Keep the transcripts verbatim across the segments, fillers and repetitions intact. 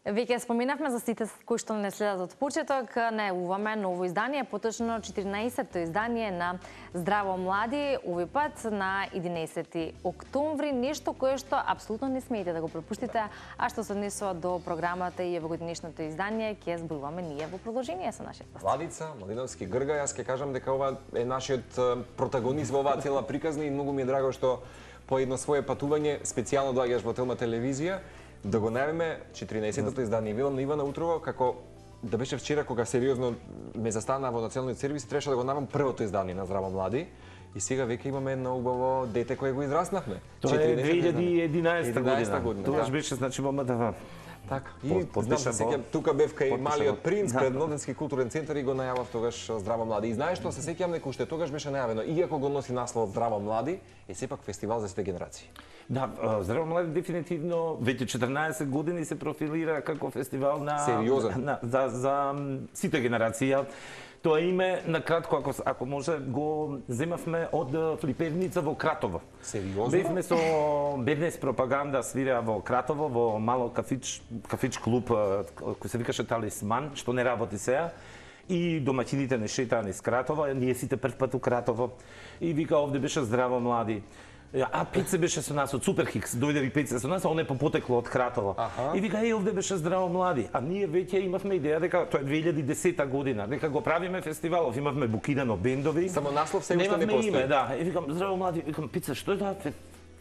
Веќе споминавме за сите кои што не следат од почеток, најавуваме ново издание, поточно четиринаесетто издание на Здраво млади, овој пат на единаесети октомври, нешто кое што апсолутно не смеете да го пропуштите, а што се однесува до програмата и евогодинешното издание, ќе зборуваме ние во продолжение со нашиот гост. Владица, Малиновски Грга, јас ќе кажам дека ова е нашиот протагонист во оваа цела приказна и многу ми е драго што по едно свое патување специјално доаѓаш во Телма телевизија да го најавиме четиринаесеттото издание. Велам на Ивана утрово како да беше вчера кога сериозно ме застана во националниот сервис, требаше да го најавам првото издание на Здраво млади. И сега веќе имаме едно убаво дете кое го израснавме. Тоа е две илјади и единаесета година. година. Тогаш да. беше значи во МТВ. Така. И знам се сеќам, тука бев кај Малиот принц пред Младенски културен центар и го најавав тогаш Здраво млади. И знаеш што се сеќам дека уште тогаш беше најавено, иако го носи наслов Здраво млади, е сепак фестивал за сите генерации. Да, Здраво млади дефинитивно веќе четрнаесет години се профилира како фестивал на сериозен на, за за сите генерации. Тоа име на кратко ако ако може го земавме од Флиперница во Кратово. Сериозно? Бевме со Беднес пропаганда свира во Кратово во мало кафич кафич клуб кој се викаше Талисман, што не работи сега. И домаќините не шетаа низ Кратово, ние сите прв пат у Кратово. И вика овде беше Здраво млади. А Пеце беше со нас од Суперхикс, дојде ви Пеце со нас, а он е попотекло од Кратово. Аха. И вика, е, овде беше Здраво млади. А ние веќе имавме идеја дека тоа е две илјади и десета година, дека го правиме фестивалов, имавме букирано бендови. Само наслов се уште не постои. Име, да. И викам, Здраво млади, викам, Пеце, што е тоа?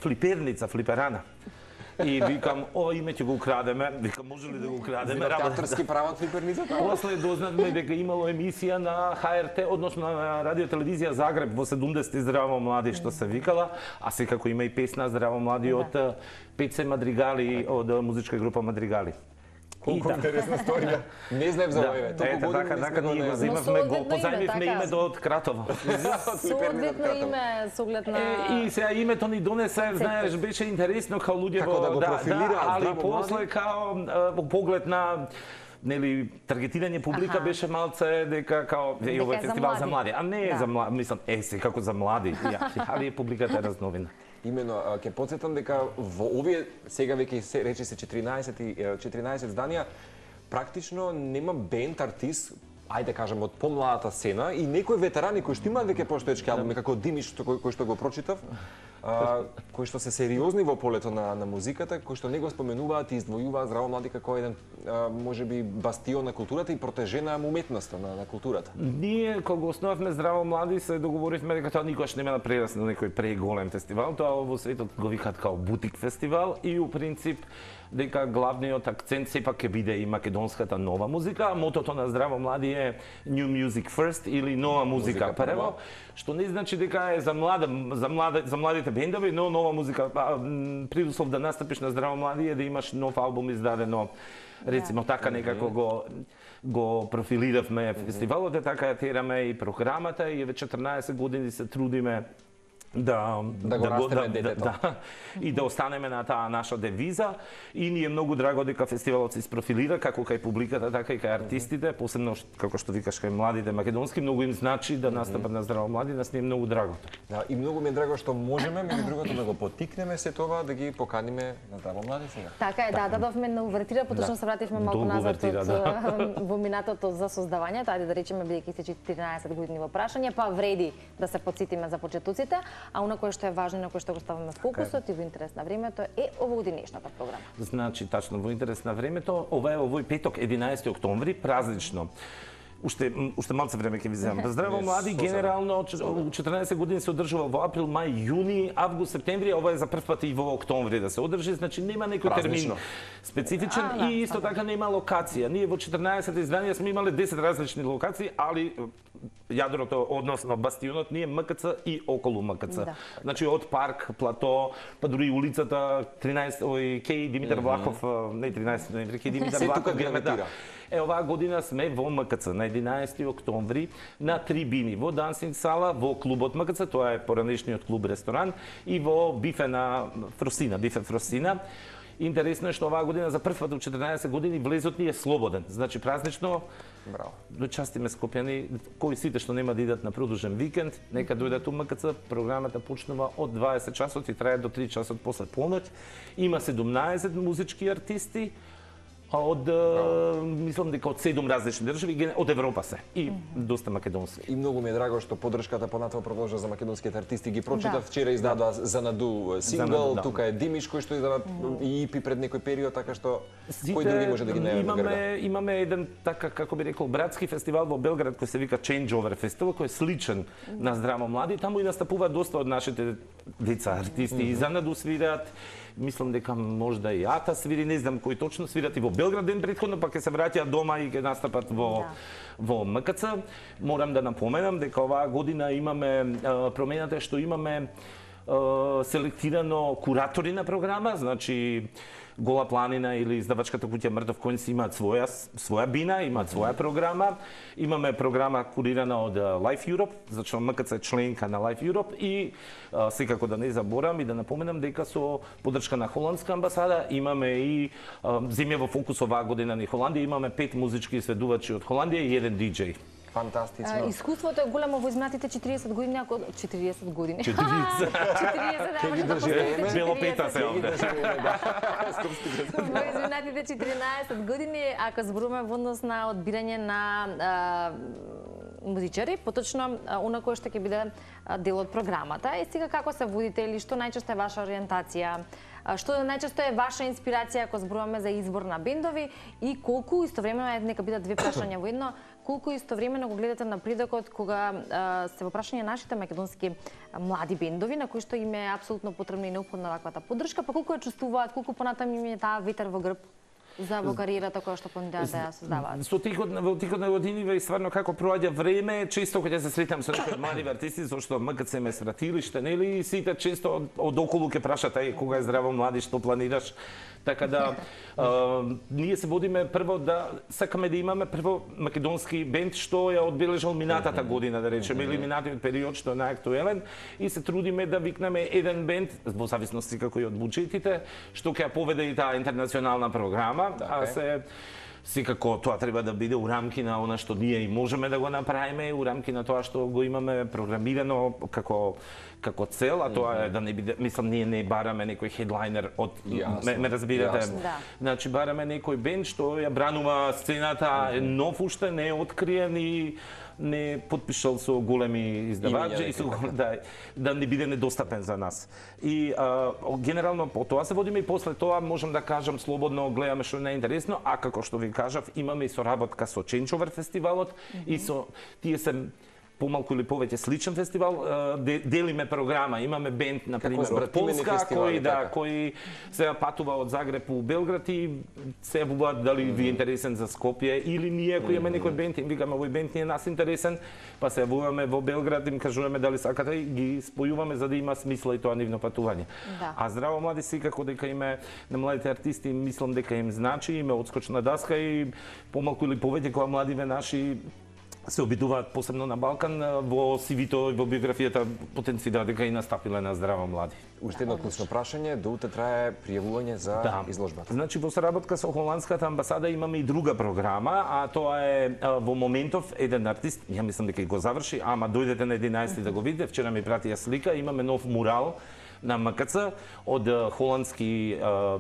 Флиперница, флиперана. И викам, ова име ќе го украдеме. Викам, може ли да го украдеме? Театарски права од Флиперницата? После дознавме дека имало емисија на Х Р Т, односно на радиотелевизија Загреб во седумдесети Здраво млади што се викала, а секако има и песна Здраво млади од Пеце Мадригали, од музичка група Мадригали. Колку интересна сторија. Не знаев за овој. Ето така, така ние го земавме, го позајмивме името од Кратово. Соодветно име, со оглед на... И сега името ни донесе, знаеш, беше интересно као луѓе како да го профилира, али после као во поглед на нели таргетирање публика беше малце дека као е овој фестивал за млади, а не е за млади, мислам, е секако за млади. Али е публиката разновина. Имено, ќе потсетам дека во овие сега веќе се рече се четиринаесет изданија, практично нема бенд артист, ајде кажам од помладата сцена и некои ветерани кои што имаат веќе постоечки албуми како Димиш кој, кој што го прочитав, а, кои што се сериозни во полето на на музиката, кои што не го споменуваат и издвојуваат Здраво млади како еден а, можеби бастион на културата и протежена уметноста на, на културата. Ние кога го основавме Здраво млади се договоривме дека тоа никогаш нема да прерасне на некој преголем фестивал, тоа во светот го викаат као бутик фестивал и у принцип дека главниот акцент сепак ќе биде и македонската нова музика, а мотото на Здраво млади е New Music First или нова музика, музика прво, што не значи дека е за млада за млади за младите бендови, но нова музика. Предуслов да настапиш на Здраво млади е да имаш нов албум издадено, рецимо така некако го го профилиравме фестивалот, е така ја тераме и програмата и веќе четрнаесет години се трудиме да да го да, растеме да, детето. Да, и да останеме на таа наша девиза и ни е многу драго дека фестивалот се isprofilira како кај публиката, така и кај артистите, посебно како што викаш кај младите македонски, многу им значи да настапат на Здраво млади, нас ни е многу драго. Да, и многу ми е драго што можеме меѓу другото да го потикнеме се тоа да ги поканиме на Здраво млади сега. Така е, да, дадовме на увертира, поточно се вративме малку назад од во минатото за создавањето, ајде да речеме бидејќи се четиринаесет години во прашање, па вреди да се потсетиме за почетоците. А она кое што е важно, на кое што го ставаме фокусот и во интерес на времето е овогодинешната програма. Значи, тачно во интерес на времето, ова е овој петок, единаесети октомври, празнично. Уште уште малце време ќе ви земам. Здраво млади генерално четрнаесет години се одржува во април, мај, јуни, август, септември, ова е за прв пат и во октомври да се одржи, значи нема некој термин специфичен а, да, и исто така нема локација. Ние во четрнаесет изданија сме имале десет различни локации, али јадрото, односно бастионот ни е М К Ц и околу М К Ц. Да. Значи од парк, плато, па дури улицата тринаесет, ој Кеј Димитар Влахов, не тринаесет ноември, Кеј Димитар Влахов гравитира. Е, оваа година сме во М К Ц на единаесети октомври на трибини во дансинг сала, во клубот М К Ц, тоа е поранешниот клуб ресторан и во бифе на Фросина, бифе Фросина. Интересно е што оваа година за прв пат во четрнаесет години влезот ни е слободен. Значи празнично. Браво. Дочастиме скопјани, кои сите што нема да идат на продолжен викенд, нека дојдат у М К Ц. Програмата почнува од дваесет часот и трае до три часот после полноќ. Има седумнаесет музички артисти. А од, мислам дека од седум различни држави, од Европа се и доста македонски. И многу ми е драго што поддршката понатоа продолжа за македонските артисти. Ги прочитав вчера издадоа Занаду сингл, тука е Димиш кој што издаде и ипи пред некој период, така што кој други може да ги најде на града. Имаме имаме еден така како би рекол братски фестивал во Белград кој се вика Changeover фестивал, кој е сличен на Здраво млади, таму и настапуваат доста од нашите деца артисти и Занаду свират. Мислам дека можда и Ата свири, не знам кој точно свират и во Белград ден претходно, па ќе се враќаат дома и ќе настапат во во М К Ц. Морам да напоменам дека оваа година имаме промената што имаме селектирано куратори на програма, значи Гола планина или издавачката куќа Мртов конј си имаат своја своја бина, имаат своја програма. Имаме програма курирана од Life Europe, зашто М К Ц е членка на Life Europe и а, секако да не заборам и да напоменам дека со поддршка на холандска амбасада имаме и а, земја во фокус оваа година на Холандија, имаме пет музички изведувачи од Холандија и еден диџеј. Фантастично. Искуството е големо во изминатите четириесет години, ако четириесет години. четириесет. четириесет, да, може да поставите Бело пета се овде. Во изминатите четиринаесет години, ако зборуваме во однос на одбирање на музичари, поточно она кој што ќе биде дел од програмата. И сега како се водите или што најчесто е ваша ориентација? Што најчесто е ваша инспирација ако зборуваме за избор на бендови и колку истовремено е, нека бидат две прашања во едно, колку истовремено го гледате напредокот кога а, се во прашање нашите македонски млади бендови на кои што им е апсолутно потребна и неопходна ваквата поддршка, па колку ја чувствуваат, колку понатаму им е таа ветер во грб за во кариерата која што планираат да ја создаваат? Со текот во текот на годиниве и стварно како проаѓа време, често кога се сретам со некои млади артисти, зашто М К Ц ме свратилиште, нели, и сите често од, од околу ќе прашат ај кога е Здраво млади, што планираш? Така да а, ние се водиме прво да сакаме да имаме прво македонски бенд што ја одбележал минатата година, да речеме, или минатиот период што е најактуелен и се трудиме да викнеме еден бенд во зависност како и од буџетите, што ќе ја поведе и таа интернационална програма, а се секако тоа треба да биде у рамки на она што ние и можеме да го направиме, у рамки на тоа што го имаме програмирано како како цел, а тоа е да не биде, мислам, ние не бараме некој хедлайнер од ме, ме разбирате. Да. Значи бараме некој бенд што ја бранува сцената, е нов уште, не е откриен и не потпишал со големи издавачи и со да да не биде недостапен за нас. И а, генерално по тоа се водиме и после тоа можам да кажам слободно гледаме што не е интересно, а како што ви кажав, имаме и соработка со Changeover фестивалот mm-hmm. и со тие се помалку или повеќе сличен фестивал, делиме програма, имаме бенд на пример од Полска кој да така. кој се патува од Загреб у Белград и се јавуваат дали ви е интересен за Скопје или ние кој имаме некој бенд им викаме овој бенд не е нас интересен, па се јавуваме во Белград им кажуваме дали сакате и ги спојуваме за да има смисла и тоа нивно патување. Да. А Здраво млади секако дека име на младите артисти мислам дека им значи, име одскочна даска и помалку или повеќе кога младиве наши се обидуваат посебно на Балкан, во си ви-то и во биографијата потенцира дека и настапиле на Здраво млади. Уште едно клучно прашање, до утре трае пријавување за да. изложбата. Значи во соработка со холандската амбасада имаме и друга програма, а тоа е во моментов еден артист, ја мислам дека и го заврши, ама дојдете на единаесети да го видите, вчера ми пратија слика, имаме нов мурал на М К Ц од холандски а,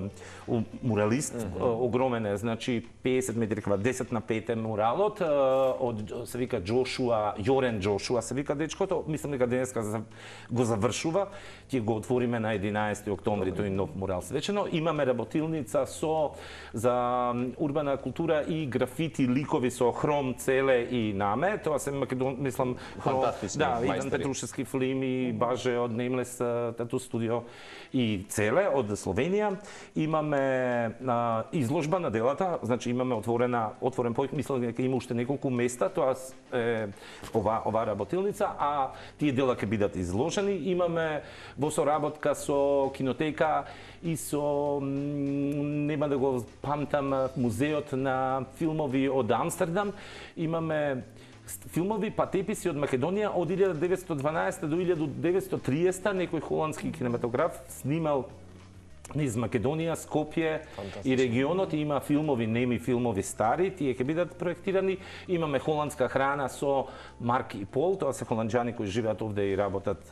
муралист, mm -hmm. огромен е, значи педесет метри квадрат, десет на пет е муралот, а, од се вика Джошуа, Јорен Джошуа се вика дечкото, мислам дека денеска го завршува, ќе го отвориме на единаесети октомври тој нов мурал свечено. Имаме работилница со за урбана култура и графити ликови со Хром, Целе и Наме, тоа се македон, мислам, Хром, да, Иван Петрушевски филм и Баже од Неймлес тату студио и Целе од Словенија. Имаме а, изложба на делата, значи имаме отворена отворен појк, мислам дека има уште неколку места, тоа е ова ова работилница, а тие дела ќе бидат изложени. Имаме во соработка со кинотека и со нема да го памтам музеот на филмови од Амстердам, имаме филмови патеписи од Македонија од илјада деветстотини и дванаесета до илјада деветстотини и триесета, некој холандски кинематограф снимал низ Македонија, Скопје и регионот има филмови, неми филмови стари, тие ќе бидат проектирани. Имаме холандска храна со Марк и Пол, тоа се холанџани кои живеат овде и работат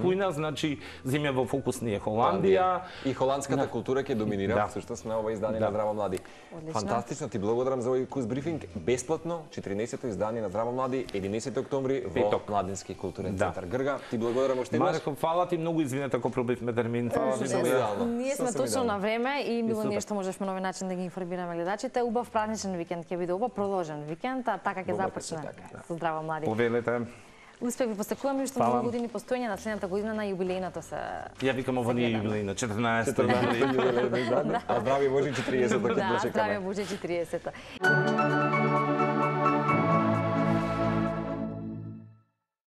кујна, значи земја во фокус ни е Холандија. И холандската На... култура ќе доминира Да. всушност на ова издание Да. на Здраво млади. Одлично. Фантастично, ти благодарам за овој куз брифинг. Бесплатно, четирнаесетто издание на Здраво млади, единесети октомври во Петок. Младински културен Да. центар Грга. Ти благодарам уште еднаш. Марко, фала ти многу, извинете ако пробивме термин. Фала ви за Сосем овие. идеално. Ние сме Сосем точно идеално. на време и било супер. ние што можешме на овој начин да ги информираме гледачите. Убав праничен викенд ќе биде ова, продолжен викенд, а така ќе Добро, започне така. со Здраво млади. Повелете. Успех ви посекуваме уште Фала. многу години постоење на следната година на јубилејното се. Ја викам ова не е јубилејна, четрнаесетта четрнаесетто јубилејно издание, а здрави Божи четириесетто Да, ќе дочекаме. здраве Боже четириесетта.